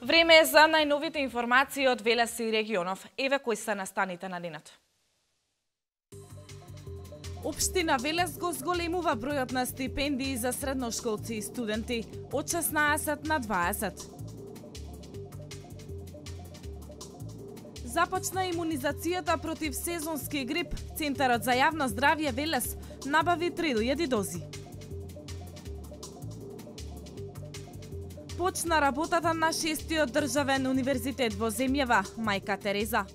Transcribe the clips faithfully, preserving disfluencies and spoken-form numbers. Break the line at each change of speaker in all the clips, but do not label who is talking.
Време е за најновите информации од Велес и регионов. Еве кои се настаните на денот. Општина Велес го зголемува бројот на стипендии за средношколци и студенти од шеснаесет на дваесет. Започна имунизацијата против сезонски грип. Центарот за јавно здравје Велес набави три илјади дози. Почна работата на шестиот државен универзитет во земјава, Мајка Тереза.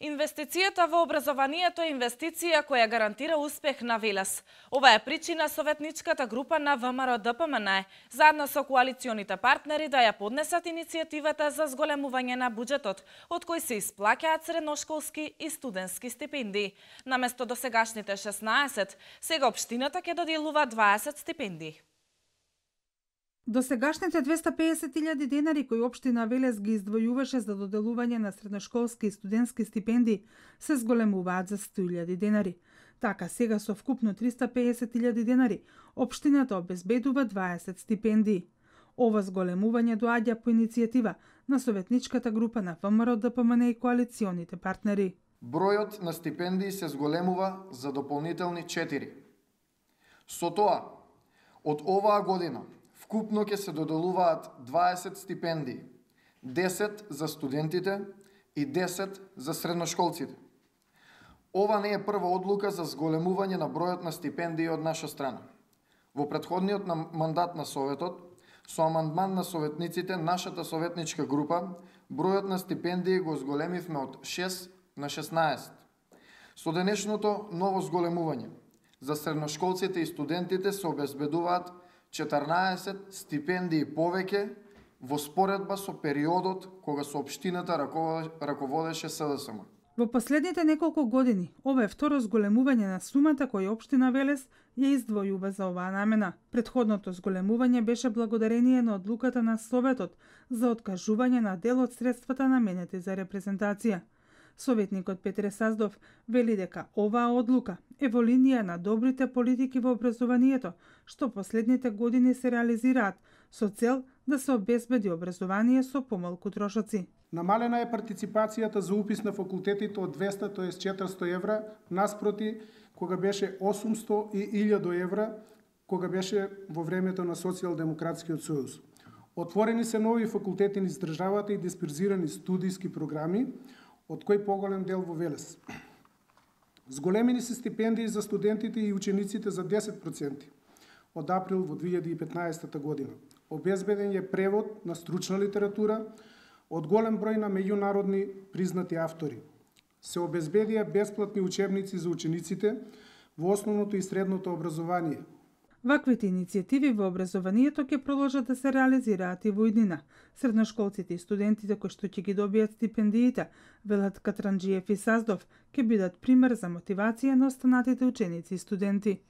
Инвестицијата во образованието е инвестиција која гарантира успех на Велес. Ова е причина советничката група на ВМРО-ДПМН заедно со коалиционите партнери да ја поднесат иницијативата за зголемување на буџетот, од кој се исплаќаат средношколски и студентски стипендии. Наместо досегашните шеснаесет, сега општината ќе доделува дваесет стипендии.
Досегашните двеста пеесет илјади денари кои општина Велес ги издвојуваше за доделување на средношколски и студентски стипендии се зголемуваат за сто илјади денари. Така сега со вкупно триста пеесет илјади денари општината обезбедува дваесет стипендии. Ова зголемување доаѓа по иницијатива на советничката група на ВМРО-ДПМН и коалиционите партнери.
Бројот на стипендии се зголемува за дополнителни четири. Со тоа, од оваа година вкупно ќе се доделуваат дваесет стипендии, десет за студентите и десет за средношколците. Ова не е прва одлука за зголемување на бројот на стипендии од наша страна. Во претходниот мандат на Советот, со амандман на советниците, нашата советничка група, бројот на стипендии го зголемивме од шест на шеснаесет. Со денешното ново зголемување, за средношколците и студентите се обезбедуваат четрнаесет стипендии повеќе во споредба со периодот кога со општината раководеше СДСМ.
Во последните неколку години, ова е второ зголемување на сумата која општина Велес ја издвојува за оваа намена. Претходното зголемување беше благодарение на одлуката на Советот за откажување на дел од средствата наменети за репрезентација. Советникот Петре Саздов вели дека оваа одлука е во линија на добрите политики во образованието, што последните години се реализираат со цел да се обезбеди образование со помалку трошоци.
Намалена е партиципацијата за упис на факултетите од двеста, тоест четиристо евра, наспроти кога беше осумсто и илјада евра, кога беше во времето на Социјалдемократскиот сојуз. Отворени се нови факултети низ државата и дисперзирани студиски програми, од кој поголем дел во Велес. Зголемени се стипендии за студентите и учениците за десет проценти од април во две илјади и петнаесета година. Обезбеден е превод на стручна литература од голем број на меѓународни признати автори. Се обезбедија бесплатни учебници за учениците во основното и средното образование.
Ваквите иницијативи во образованието ќе продолжат да се реализираат и во иднина. Средношколците и студентите кои што ќе ги добијат стипендиите, велат Катранџиев и Саздов, ќе бидат пример за мотивација на останатите ученици и студенти.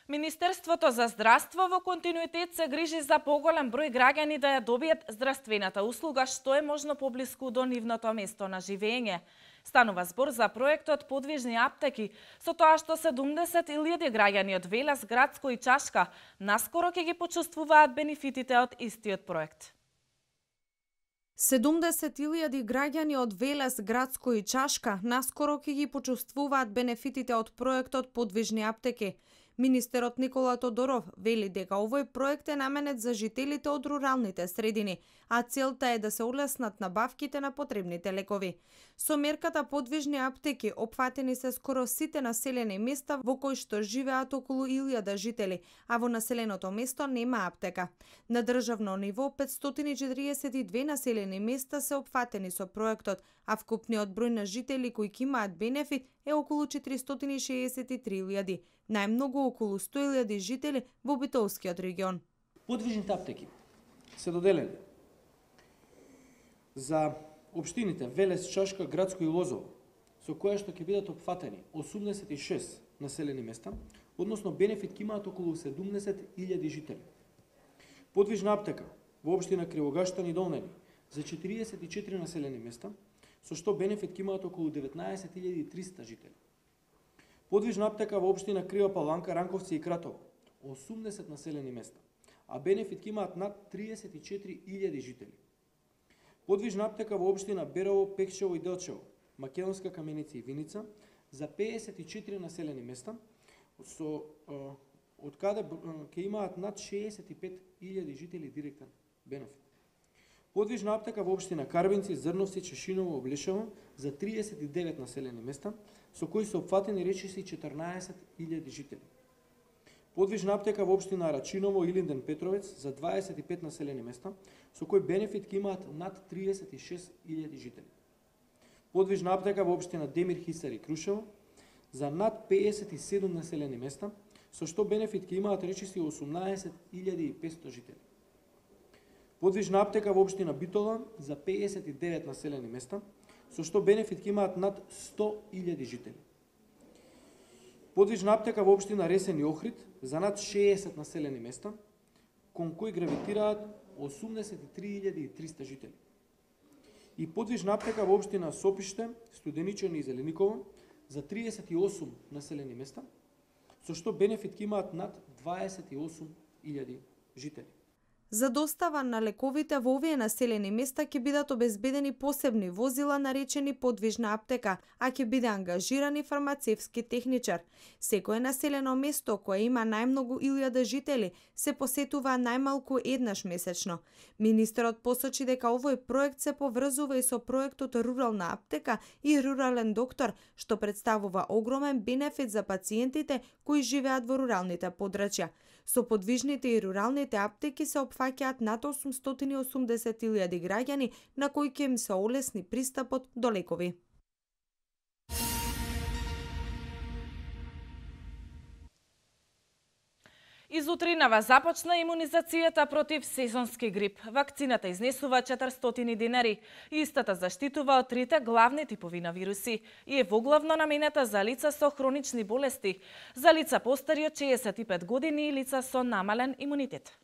Министерството за здравство во континуитет се грижи за поголем број граѓани да ја добијат здравствената услуга што е можно поблиску до нивното место на живење. Станува збор за проектот Подвижни аптеки, со тоа што седумдесет илјади граѓани од Велес, Грацко и Чашка наскоро ќе ги почувствуваат бенефитите од истиот проект.
седумдесет илјади граѓани од Велес, Грацко и Чашка наскоро ќе ги почувствуваат бенефитите од проектот Подвижни аптеки. Министерот Никола Тодоров вели дека овој проект е наменет за жителите од руралните средини, а целта е да се олеснат набавките на потребните лекови. Со мерката Подвижни аптеки опфатени се скоро сите населени места во кои што живеат околу илјада жители, а во населеното место нема аптека. На државно ниво петстотини и четиридесет и две населени места се опфатени со проектот, а вкупниот број на жители кои ќе имаат бенефит е околу четиристотини и шеесет и три илјади, најмногу околу сто илјади жители во Битолскиот регион.
Подвижните аптеки се доделени за општините Велес, Чашка, Грацко и Лозово, со која што ќе бидат опфатени осумдесет и шест населени места, односно бенефит ќе имаат околу седумдесет илјади жители. Подвижна аптека во општина Кривогаштан и Долнени за четиридесет и четири населени места, со што бенефит ќе имаат околу деветнаесет илјади и триста жители. Подвижна аптека во општина Крива Паланка, Ранковци и Кратово, осумдесет населени места, а бенефит ќе имаат над триесет и четири илјади жители. Подвижна аптека во општина Берово, Пекчево и Делчево, Македонска Каменица и Виница, за пеесет и четири населени места, со од каде ќе имаат над шеесет и пет илјади жители директен бенефит. Подвижна аптека во општина Карвинци, Зрновци, Чешиново, Облешево за триесет и девет населени места, со кои се опфатени речиси четрнаесет илјади жители. Подвижна аптека во општина Рачиново, Илинден, Петровец за дваесет и пет населени места, со кој бенефит ќе имаат над триесет и шест илјади жители. Подвижна аптека во општина Демир, Хисар и Крушево за над пеесет и седум населени места, со што бенефит ќе имаат речиси осумнаесет илјади и петстотини жители. Подвижна аптека во општина Битола за пеесет и девет населени места, со што бенефит ќе имаат над сто илјади жители. Подвижна аптека во општина Ресен и Охрид за над шеесет населени места, кон кои гравитираат осумдесет и три илјади и триста жители. И подвижна аптека во општина Сопиште, Студеничани и Зелениково за триесет и осум населени места, со што бенефит ќе имаат над дваесет и осум илјади жители.
За достава на лековите во овие населени места ќе бидат обезбедени посебни возила наречени подвижна аптека, а ќе биде ангажиран и фармацевски техничар. Секое населено место кое има најмногу илјада жители се посетува најмалку еднаш месечно. Министерот посочи дека овој проект се поврзува и со проектот Рурална аптека и Рурален доктор, што представува огромен бенефит за пациентите кои живеат во руралните подрачја. Со подвижните и руралните аптеки се опфаќаат над осумстотини и осумдесет илјади граѓани на кои ќе им се олесни пристапот до лекови.
Изутринава започна имунизацијата против сезонски грип. Вакцината изнесува четиристотини динари. Истата заштитува од трите главни типови на вируси и е воглавно наменета за лица со хронични болести, за лица постари од шеесет и пет години и лица со намален имунитет.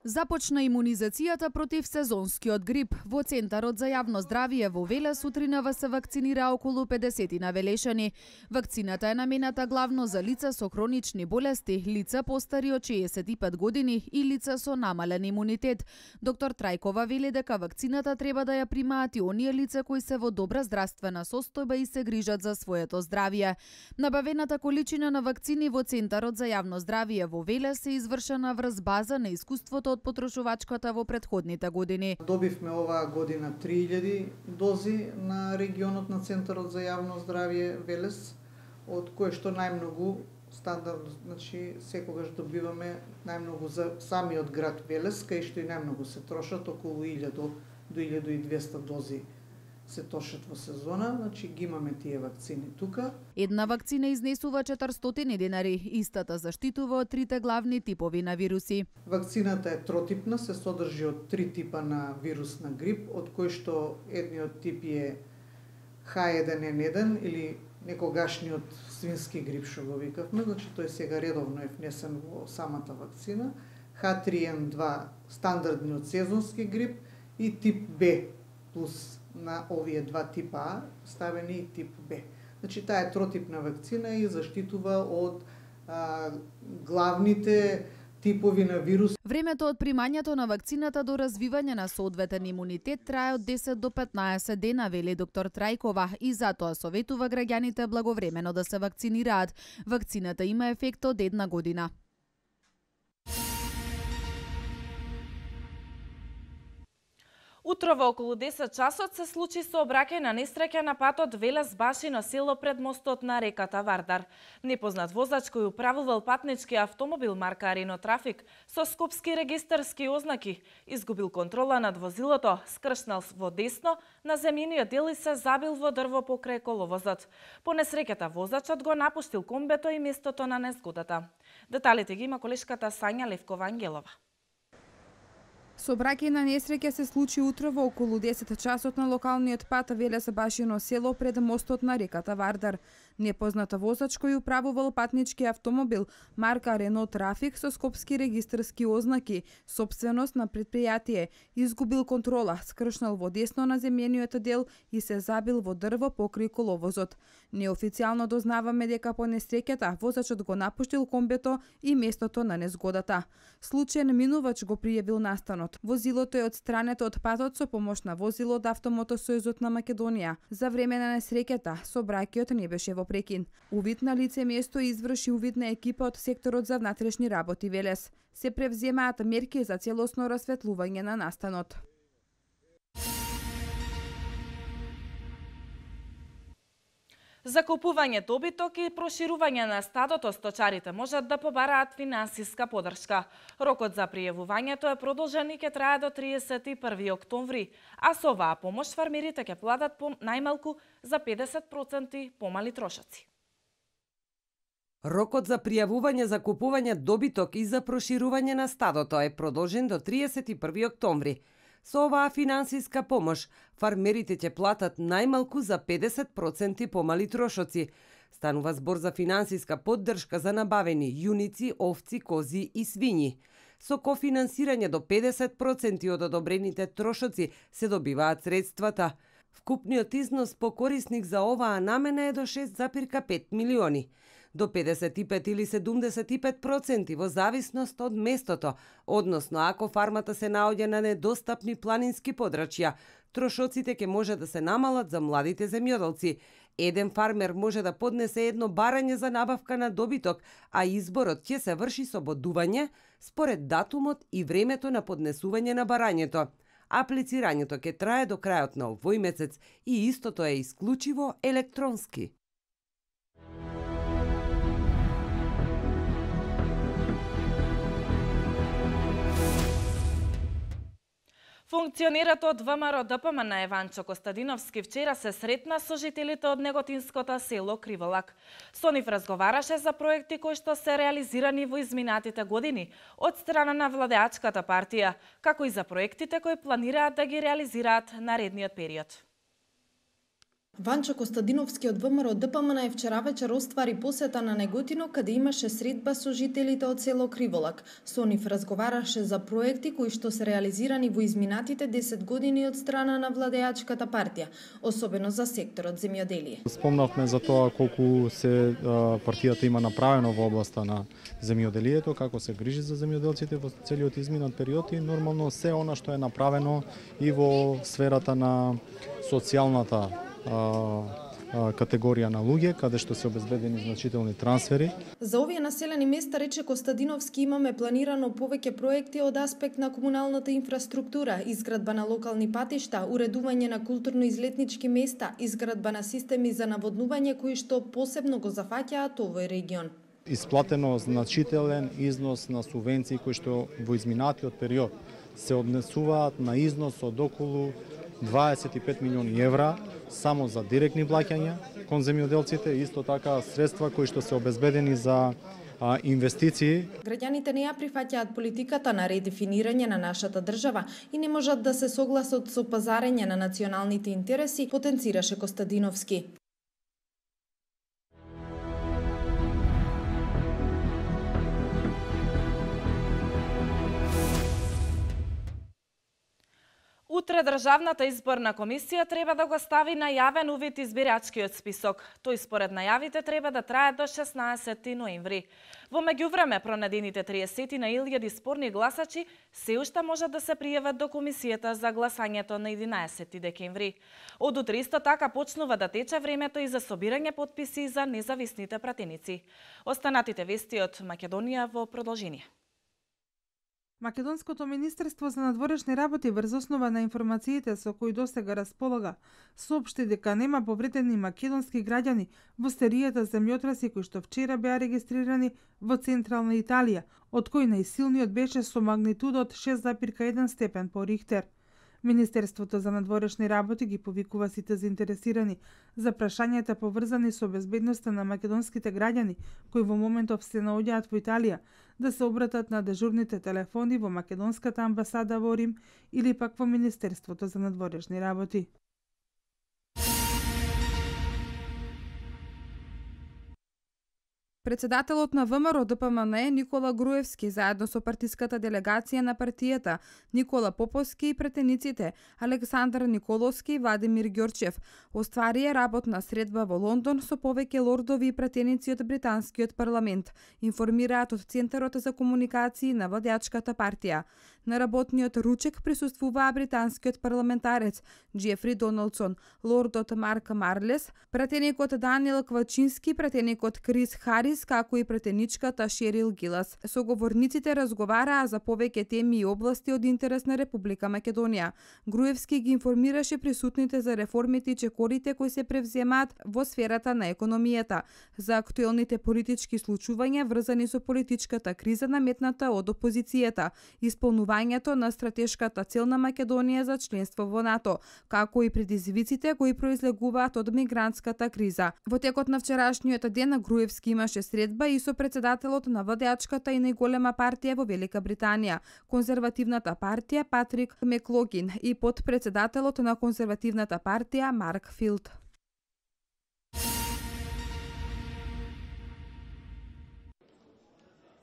Започна имунизацијата против сезонскиот грип. Во Центарот за јавно здравје во Велес утринава се вакцинира околу педесет навелешани. Вакцината е намената главно за лица со хронични болести, лица постари од шеесет и пет години и лица со намален имунитет. Доктор Трајкова вели дека вакцината треба да ја примаат и оние лица кои се во добра здравствена состојба и се грижат за своето здравје. Набавената количина на вакцини во Центарот за јавно здравје во Велес е извршена врз база на искуството од потрошувачката во претходните години.
Добивме оваа година три илјади дози на регионот на Центарот за јавно здравје Велес, од кое што најмногу стандардно, значи секогаш добиваме најмногу за самиот град Велес, кај што и најмногу се трошат, околу илјада до илјада и двесте дози се трошат во сезона, значи ги имаме тие вакцини тука.
Една вакцина изнесува четиристотини динари, истата заштитува од трите главни типови на вируси.
Вакцината е тротипна, се содржи од три типа на вирус на грип, од кој што едниот тип е Х еден ен еден или некогашниот свински грип што го викавме, значи тој сега редовно е внесен во самата вакцина, Х три ен два стандардниот сезонски грип и тип Б плюс на овие два типа А ставени и тип Б. Значи таа е тротипна вакцина и заштитува од а, главните типови на вирус.
Времето од примањето на вакцината до развивање на соодветен имунитет трае од десет до петнаесет дена, вели доктор Трајкова, и затоа советува граѓаните благовремено да се вакцинираат. Вакцината има ефект од една година.
Утрово околу десет часот се случи сообраќајна несреќа на патот Велес Башино село пред мостот на реката Вардар. Непознат возач кој управувал патнички автомобил марка Арино Трафик со скопски регистарски ознаки изгубил контрола над возилото, скршнал во десно на земјениот дел и се забил во дрво покрај коловозот. По несреќата возачот го напуштил комбето и местото на незгодата. Деталите ги има колешката Сања Левкова Ангелова.
Сообраќајна несреќа се случи утре во околу десет часот на локалниот пат Велес-Башино село пред мостот на реката Вардар. Непозната возач кој управувал патнички автомобил марка Рено Трафик со скопски регистарски ознаки, сопственост на предпријатие, изгубил контрола, скршнал во десно на земјениот дел и се забил во дрво покрај коловозот. Неофицијално дознаваме дека по несреќата возачот го напуштил комбето и местото на незгодата. Случаен минувач го пријавил настанот. Возилото е отстрането од патот со помош на возило од Автомотосојузот на Македонија. За време на несреќата сообраќајот не беше во прекин. Увид на лице место изврши увид на екипа од секторот за внатрешни работи Велес. Се превземаат мерки за целосно расветлување на настанот.
Закупување добиток и проширување на стадото сточарите можат да побараат финансиска подршка. Рокот за пријавувањето е продолжен и ќе трае до триесет и први октомври, а со оваа помош фармерите ќе платат по најмалку за педесет проценти помали трошоци.
Рокот за пријавување за купување добиток и за проширување на стадото е продолжен до триесет и први октомври. Со оваа финансиска помош, фармерите ќе платат најмалку за педесет проценти помали трошоци. Станува збор за финансиска поддршка за набавени јуници, овци, кози и свињи. Со кофинансирање до педесет проценти од одобрените трошоци се добиваат средствата. Вкупниот износ по корисник за оваа намена е до шест зарез пет милиони. До педесет и пет или седумдесет и пет проценти во зависност од местото, односно ако фармата се наоѓа на недостапни планински подрачја, трошоците ќе може да се намалат за младите земјоделци. Еден фармер може да поднесе едно барање за набавка на добиток, а изборот ќе се врши со бодување според датумот и времето на поднесување на барањето. Аплицирањето ќе трае до крајот на овој месец и истото е исклучиво електронски.
Функционерот од ВМРО-ДПМН Еванчо Костадиновски вчера се сретна со жителите од неготинското село Криволак. Со нив разговараше за проекти кои што се реализирани во изминатите години од страна на владеачката партија, како и за проектите кои планираат да ги реализираат наредниот период.
Ванчо Костадиновски од ВМРО-ДПМН вчера вечер оствари посета на Неготино, каде имаше средба со жителите од село Криволак. Со нив разговараше за проекти кои што се реализирани во изминатите десет години од страна на владеачката партија, особено за секторот земјоделие.
Спомнавме за тоа колку се партијата има направено во областа на земјоделието, како се грижи за земјоделците во целиот изминат период и нормално се она што е направено и во сферата на социјалната категорија на луѓе, каде што се обезбедени значителни трансфери.
За овие населени места, рече Костадиновски, имаме планирано повеќе проекти од аспект на комуналната инфраструктура, изградба на локални патишта, уредување на културно-излетнички места, изградба на системи за наводнување кои што посебно го зафаќаат овој регион.
Исплатено значителен износ на субвенции кои што во изминатиот период се однесуваат на износ од околу дваесет и пет милиони евра само за директни плаќања кон земјоделците, исто така средства кои што се обезбедени за а, инвестиции.
Граѓаните не ја прифаќаат политиката на редефинирање на нашата држава и не можат да се согласат со пазарење на националните интереси, потенцираше Костадиновски.
Утре Државната изборна комисија треба да го стави на јавен увид избирачкиот список. Тој според најавите треба да трае до шеснаесети ноември. Во меѓувреме, пронадените триесет на илјади спорни гласачи се уште можат да се пријават до комисијата за гласањето на единаесети декември. Од утре исто така почнува да тече времето и за собирање потписи за независните пратеници. Останатите вести од Македонија во продолжение.
Македонското министерство за надворешни работи врз основа на информациите со кои досега располага, соопшти дека нема повредени македонски граѓани во серијата земјотреси кои што вчера беа регистрирани во централна Италија, од кои најсилниот беше со магнитудот шест зарез еден степен по Рихтер. Министерството за надворешни работи ги повикува сите заинтересирани за прашањата поврзани со безбедноста на македонските граѓани кои во моментов се наоѓаат во Италија, да се обратат на дежурните телефони во македонската амбасада во Рим или пак во Министерството за надворешни работи.
Председателот на ВМРО Д П М Н Никола Груевски заедно со партиската делегација на партијата, Никола Поповски и претениците Александар Николовски и Владимир Ѓорчев остварија работна средба во Лондон со повеќе лордови и претеници од британскиот парламент, информираат од Центарот за комуникации на владеачката партија. На работниот ручек присуствуваа британскиот парламентарец Џефри Доналдсон, лордот Марк Марлес, пратеникот Даниел Квачински, пратеникот Крис Харис, како и пратеничката Шерил Гилас. Соговорниците разговараа за повеќе теми и области од интерес на Република Македонија. Груевски ги информираше присутните за реформите и чекорите кои се превземаат во сферата на економијата, за актуелните политички случувања врзани со политичката криза наметната од опозицијата, исполнувањето на стратешката цел на Македонија за членство во НАТО, како и предизвиците кои произлегуваат од мигрантската криза. Во текот на вчерашниот ден Груевски имаше средба и со председателот на владеачката и најголема партија во Велика Британија, конзервативната партија Патрик Меклогин и подпредседателот на конзервативната партија Марк Филд.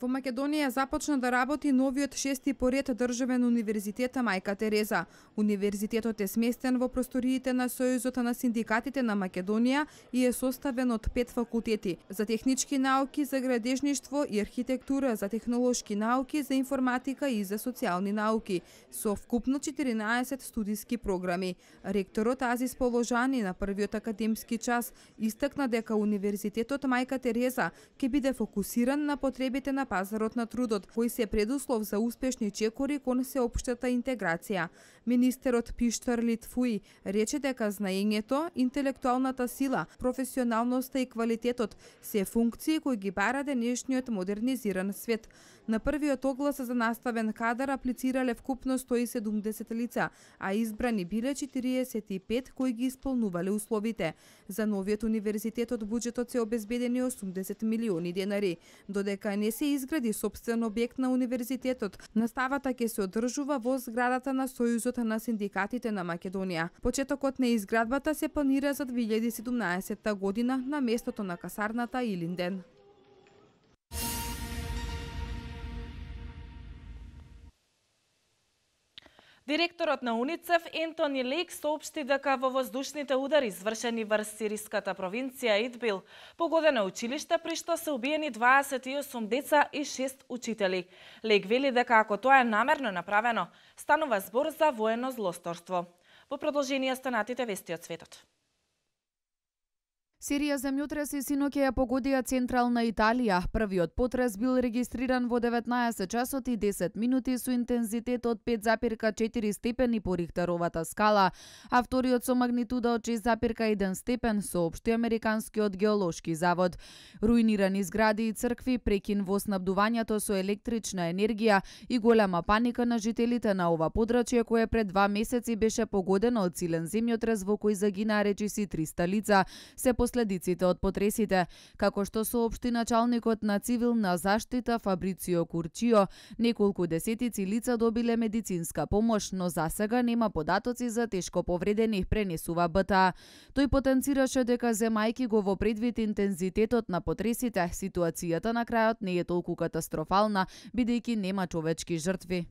Во Македонија започна да работи новиот шести поред државен универзитет Мајка Тереза. Универзитетот е сместен во просториите на Сојузот на синдикатите на Македонија и е составен од пет факултети: за технички науки, за градежништво и архитектура, за технолошки науки, за информатика и за социјални науки, со вкупно четиринаесет студиски програми. Ректорот Азис Положани на првиот академски час истакна дека Универзитетот Мајка Тереза ќе биде фокусиран на потребите на пазарот на трудот, кој се предуслов за успешни чекори кон сеопштата интеграција. Министерот Пиштар Литфуи рече дека знаењето, интелектуалната сила, професионалноста и квалитетот се функции кои ги бара денешниот модернизиран свет. На првиот оглас за наставен кадар аплицирале вкупно сто и седумдесет лица, а избрани биле четириесет и пет кои ги исполнувале условите. За новиот универзитет од буџетот се обезбедени осумдесет милиони денари. Додека не се изгради сопствен објект на универзитетот, наставата ќе се одржува во зградата на Сојузот на синдикатите на Македонија. Почетокот на изградбата се планира за две илјади и седумнаесетта година на местото на касарната Илинден.
Директорот на УНИЦЕФ Ентони Лейк соопшти дека во воздушните удари извршени врз сириската провинција Идбил погодено училиште при што се убиени дваесет и осум деца и шест учители. Лейк вели дека ако тоа е намерно направено, станува збор за воено злосторство. Во продолжение станатите вести од светот.
Серија земјотреси синоќа ја погодија централна Италија. Првиот потрес бил регистриран во деветнаесет часот и десет минути со интензитет од пет запирка четири степени по Рихтеровата скала, а вториот со магнитуда од шест запирка еден степен, соопшти Американскиот геолошки завод. Руинирани згради и цркви, прекин во снабдувањето со електрична енергија и голема паника на жителите на ова подрачје кое пред два месеци беше погодено од силен земјотрес во кој загинаа речиси триста лица, се последиците од потресите. Како што соопшти началникот на цивилна заштита Фабрицио Курчио, неколку десетици лица добиле медицинска помош, но засега нема податоци за тешко повредени, пренесува Б Т А. Тој потенцираше дека земајки го во предвид интензитетот на потресите, ситуацијата на крајот не е толку катастрофална, бидејќи нема човечки жртви.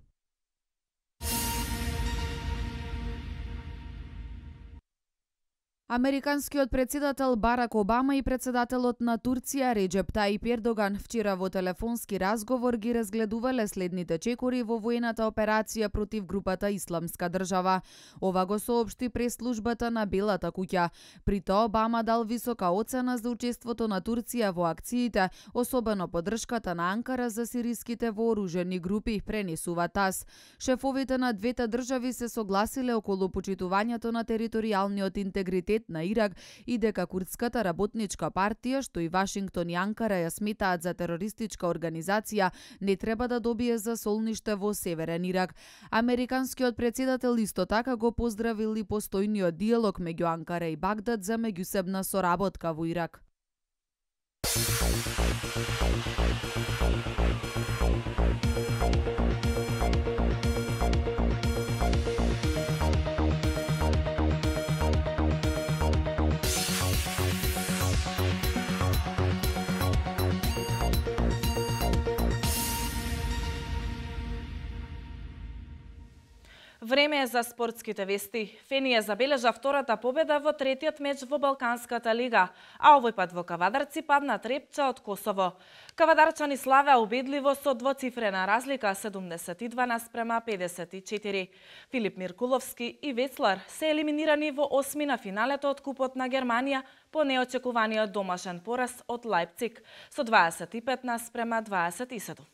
Американскиот председател Барак Обама и председателот на Турција Реџеп Таип Ердоган вчера во телефонски разговор ги разгледувале следните чекори во воената операција против групата Исламска држава. Ова го соопшти прес-службата на Белата куќа. При тоа Обама дал висока оцена за учеството на Турција во акциите, особено поддршката на Анкара за сириските вооружени групи, пренесува ТАС. Шефовите на двете држави се согласиле околу почитувањето на територијалниот интегритет на Ирак и дека Курдската работничка партија, што и Вашингтон и Анкара ја сметаат за терористичка организација, не треба да добие засолниште во Северен Ирак. Американскиот председател исто така го поздравил и постојниот диалог меѓу Анкара и Багдад за меѓусебна соработка во Ирак.
Време е за спортските вести. Фени ја забележа втората победа во третиот меч во Балканската лига, а овој пат во Кавадарци падна Трепча од Косово. Кавадарчани славеа убедливо со двоцифрена разлика седумдесет и два наспрема педесет и четири. Филип Миркуловски и Вецлар се елиминирани во осми на финалето од Купот на Германија по неочекуваниот домашен пораз од Лајпциг со дваесет и пет наспрема дваесет и седум.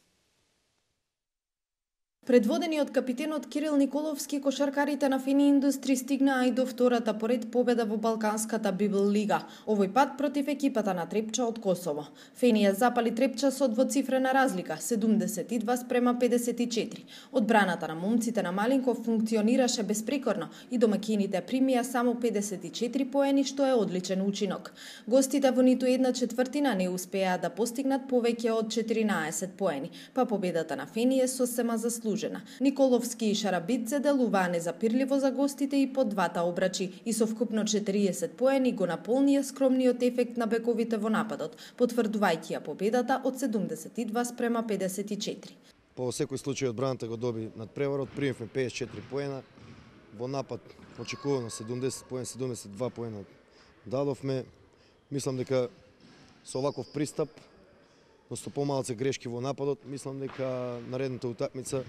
Предводени од капитенот Кирил Николовски, кошаркарите на Фени Индустри стигнаа и до втората поред победа во Балканската Библ лига, овој пат против екипата на Трепча од Косово. Фени ја запали Трепча со двоцифрена разлика, седумдесет и два спрема педесет и четири. Одбраната на момците на Малинков функционираше безпрекорно и домакините примија само педесет и четири поени, што е одличен учинок. Гостите во ниту една четвртина не успеа да постигнат повеќе од четиринаесет поени, па победата на Фени е сосема заслужена. Николовски и Шарабидзе делуваа незапирливо за гостите и по двата обрачи и со вкупно четириесет поени го наполнија скромниот ефект на бековите во нападот, потврдувајќи ја победата од седумдесет и два спрема педесет и четири.
По секој случај одбраната го доби надпреварот, примивме педесет и четири поена, во напад очекувано седумдесет поена, седумдесет и два поена дадовме. Мислам дека со оваков пристап, но со помалце грешки во нападот, мислам дека наредната утакмица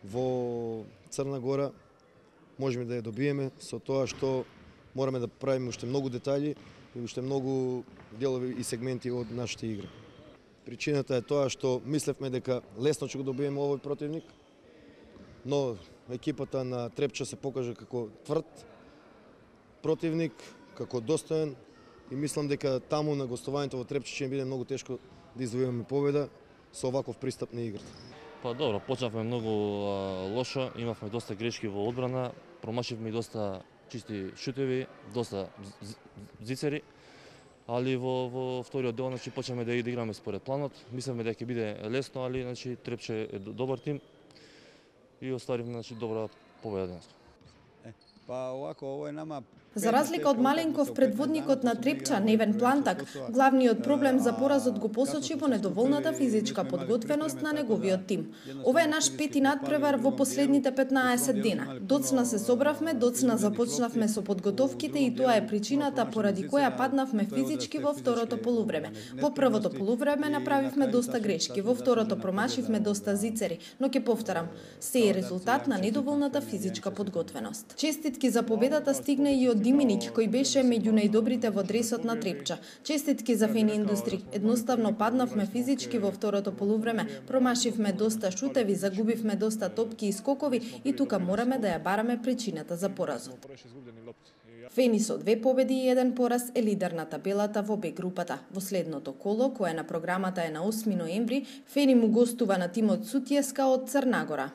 во Црна Гора можеме да ја добиеме, со тоа што мораме да правиме уште многу детали и уште многу делови и сегменти од нашата игра. Причината е тоа што мислевме дека лесно ќе го добиеме овој противник, но екипата на Трепча се покажа како тврд противник, како достоен и мислам дека таму на гостувањето во Трепча ќе биде многу тешко да извојуваме победа со оваков пристап на играта.
Па добро, почнавме многу а, лошо, имавме доста грешки во одбрана, промашивме и доста чисти шутеви, доста зицери, али во, во вториот дел значи почнавме да играме според планот. Мислевме дека ќе биде лесно, али значи Трепче е добар тим и оставивме значи добра победа денес.
Па овако ово е нама.
За разлика од Маленков, предводникот на Трепча, Невен Плантак, главниот проблем за поразот го посочи во недоволната физичка подготвеност на неговиот тим. Ова е наш пети надпревар во последните петнаесет дена. Доцна се собравме, доцна започнавме со подготовките и тоа е причината поради која паднавме физички во второто полувреме. Во првото полувреме направивме доста грешки, во второто промашивме доста зицери, но ќе повторам, се е резултат на недоволната физичка подготвеност. Честитки за победата стигна и од Диминич, кој беше меѓу најдобрите во дресот на Трепча. Честитки за Фени Индустри. Едноставно паднавме физички во второто полувреме, промашивме доста шутеви, загубивме доста топки и скокови и тука мораме да ја бараме причината за поразот. Фени со две победи и еден пораз е лидер на табелата во Б групата. Во следното коло, кое на програмата е на осми ноември, Фени му гостува на тимот Сутјеска од Црна Гора.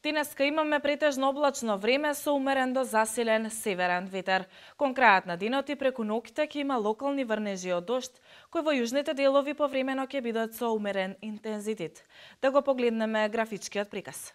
Денеска имаме претежно облачно време со умерен до засилен северен ветер. Кон крајот на денот и преку ноќта ќе има локални врнежи од дожд, кои во јужните делови повремено ќе бидат со умерен интензитет. Да го погледнеме графичкиот приказ.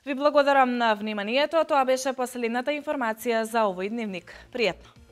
Ви благодарам на вниманието, тоа беше последната информација за овој дневник. Пријатно!